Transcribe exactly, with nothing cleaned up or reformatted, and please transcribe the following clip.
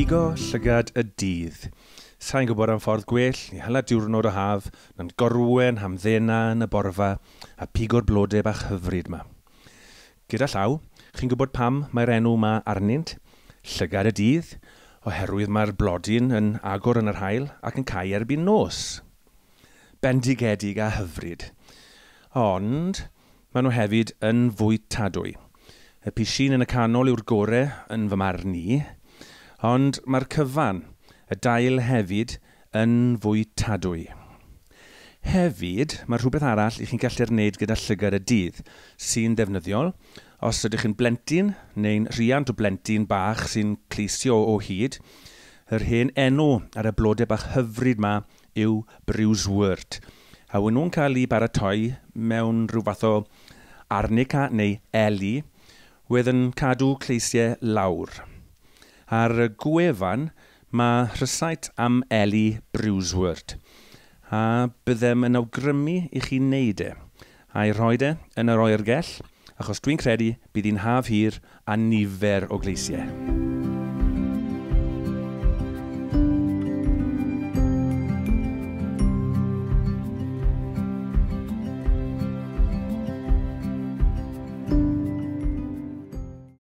Pigo llygad y dydd. Sa i'n gwybod am ffordd gwell i hala diwrnod o haf na'n gorwen hamddena yn y borfa a pigo'r blodau bach hyfryd 'ma. Gyda llaw, chi'n gwybod pam mae'r enw 'ma arnynt? Llygad y dydd, oherwydd mae'r blodyn yn agor yn yr haul ac yn cau erbyn nos. Bendigedig a hyfryd. Ond maen nhw hefyd yn fwytadwy. Y pishyn yn y canol yw'r gore yn fy marn i, ond mae'r cyfan, y dail hefyd, yn fwytadwy. Hefyd, mae rhywbeth arall i chi'n gallu'r wneud gyda llygad y dydd, sy'n ddefnyddiol os ydych chi'n blentyn neu'n rhiant o blentyn bach sy'n cleisio o hyd. Yr hen enw ar y blodau bach hyfryd 'ma yw bruisewort. A wyn nhw'n cael eu baratoi mewn rhyw fath o arnica neu eli, wedd yn cadw cleisiau lawr. Ar y gwefan mae rhysait am eli bruisewort, a byddem yn awgrymu i chi wneud e, a'i rhoi e yn yr oergell, achos dwi'n credu bydd hi'n haf hir a nifer o gleisiau.